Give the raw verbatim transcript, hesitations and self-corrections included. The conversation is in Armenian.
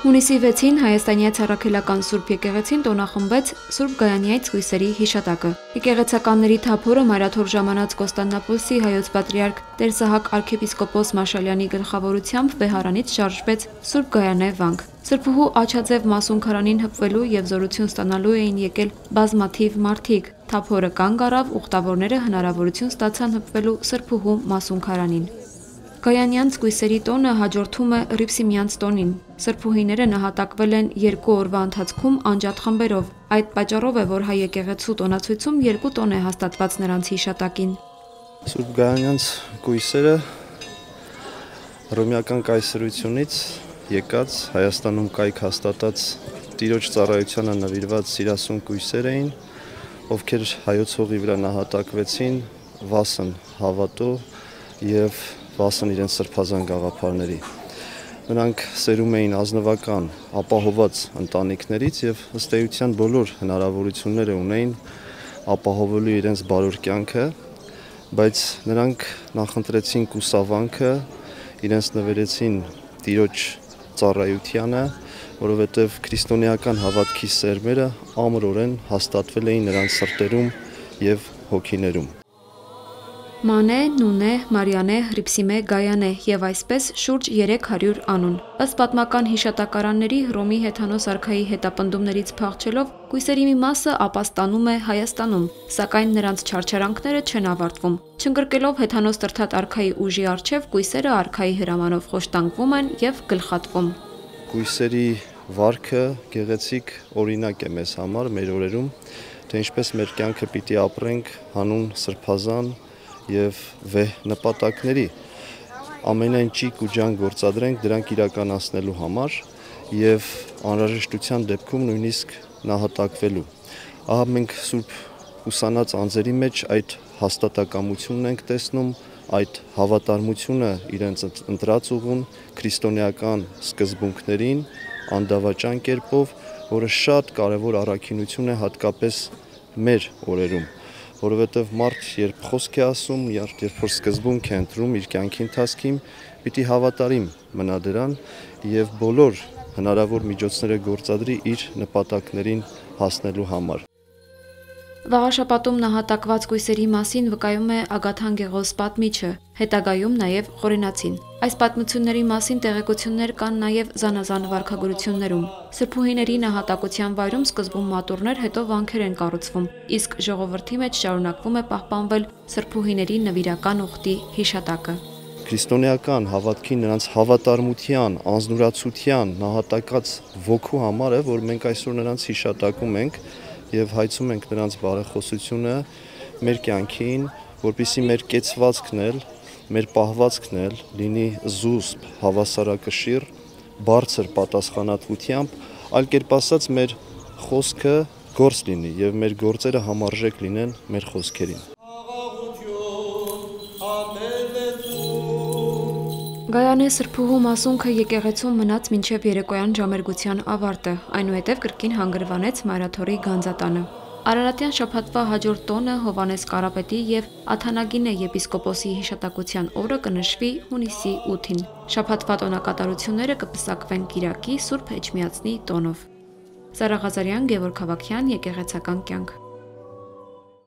Հունիսի վեցին Հայաստանյաց Առաքելական Սուրբ եկեղեցին տոնախմբեց Սուրբ Գայանյաց կույսերի հիշատակը։ Եկեղեցականների թափորը մայրաթոր ժամանած Կոստանդնապոլսի հայոց պատրիարք Տեր Սահակ arքեպիսկոպոս Մաշալյանի գլխավորությամբ Վեհարանից շարժվեց Սուրբ Գայանե վանք։ Սրբուհու աչաձև մասուն քարանին հպվելու եւ զորություն ստանալու էին եկել բազմաթիվ մարդիկ։ Թափորը կանգ առավ, ուխտավորները հնարավորություն ստացան հպվելու Սրբուհու մասուն քարանին։ Գայանյանց կույսերի տոնը հաջորդում է Հռիփսիմյանց տոնին։ Սրբուհիները նահատակվել են երկու օրվա ընթացքում անջատ խմբերով։ Այդ պատճառով է, որ հայ եկեղեցու տոնացույցում երկու տոն է հաստատված նրանց հիշատակին։ Սուրբ Գայանյանց կույսերը հռոմեական կայսրությունից եկած Հայաստանում կայք հաստատած Տիրոջ ծառայությանը նվիրված սիրասուն կույսեր էին, ովքեր հայոց հողի վրա նահատակվեցին վասն հավատո եւ վասն իրենց սրբազան գաղափարների։ Նրանք սերում էին ազնվական, ապահոված ընտանիքներից եւ ըստ էության բոլոր հնարավորությունները ունեին ապահովելու իրենց բարոր կյանքը, բայց նրանք նախընտրեցին կուսավանքը, իրենց նվիրեցին Տիրոջ ծառայությանը, որովհետեւ քրիստոնեական հավատքի սերմերը ամրորեն հաստատվել էին նրանց սրտերում եւ հոգիներում։ Մանե, Նունե, Մարիանե, Հռիփսիմե, Գայանե եւ այսպես շուրջ երեք հարյուր անուն։ Ըստ պատմական հիշատակարանների Հռոմի հեթանոս արքայի հետապնդումներից փախչելով կույսերի մի մասը ապաստանում է Հայաստանում, սակայն նրանց չարչարանքները չեն ավարտվում։ Չընկրկելով հեթանոս տրթատ արքայի ուժի առջև կույսերը արքայի հրամանով խոշտանգվում են եւ գլխատվում։ Կույսերի վարքը գեղեցիկ օրինակ է մեզ համար մեր օրերում, թե ինչպես մեր կյանքը պիտի ապրենք հանուն սրբազան եւ վեհ նպատակների, ամենայն ճիգ ու ջան գործադրենք դրանք իրականացնելու համար եւ անհրաժեշտության դեպքում նույնիսկ նահատակվելու։ Ահա մենք Սուրբ ուսանած անձերի մեջ այդ հաստատակամությունն ենք տեսնում, այդ հավատարմությունը իրենց ընտրած ուղուն քրիստոնեական սկզբունքներին անդավաճան կերպով, որը շատ կարևոր առաքինություն է հատկապես մեր օրերում, որովհետև մարդ երբ խոսք է ասում, երբ որ սկզբունք է ընտրում իր կյանքի ընթացքում, պիտի հավատարիմ մնա դրան եւ բոլոր հնարավոր միջոցները գործադրի իր նպատակներին հասնելու համար։ Վաղաշապատում նահատակված կույսերի մասին վկայում է Ագաթան Գեղոս պատմիչը, հետագայում նաև Խորենացին։ Այս պատմությունների մասին տեղեկություններ կան նաև զանազան վարքագործություններում։ Սրբուհիների նահատակության վայրում սկզբում մատուռներ, հետո վանքեր են կառուցվում, իսկ ժողովրդի մեջ շարունակվում է պահպանվել սրբուհիների նվիրական ուխտի հիշատակը։ Քրիստոնեական հավատքի նրանց հավատարմության, անձնուրացության նահատակած ոգու համար է, որ մենք այսօր նրանց հիշատակում ենք եւ հայցում ենք նրանց բարեխոսությունը մեր կյանքին, որպեսզի մեր կեցվածքն էլ, մեր պահվածքն էլ լինի զուսպ, հավասարակշիռ, բարձր պատասխանատվությամբ, այլ կերպ ասած մեր խոսքը գործ լինի եւ մեր գործերը համարժեք լինեն մեր խոսքերին։ Գայանե սրբուհու մասունքը եկեղեցում մնաց մինչև երեկոյան ժամերգության ավարտը, այնուհետև կրկին հանգրվանեց Մայրաթորի գանձատանը։ Արարատյան շաբաթվա հաջորդ տոնը Հովհաննես Կարապետի եւ Աթանագինե եպիսկոպոսի հիշատակության օրը կնշվի հունիսի ութին։ Շաբաթվա տոնակատարությունները կպսակվեն Կիրակի Սուրբ Էջմիածնի տոնով։ Զարա Ղազարյան, Գևորգ Հավաքյան, Եկեղեցական կյանք։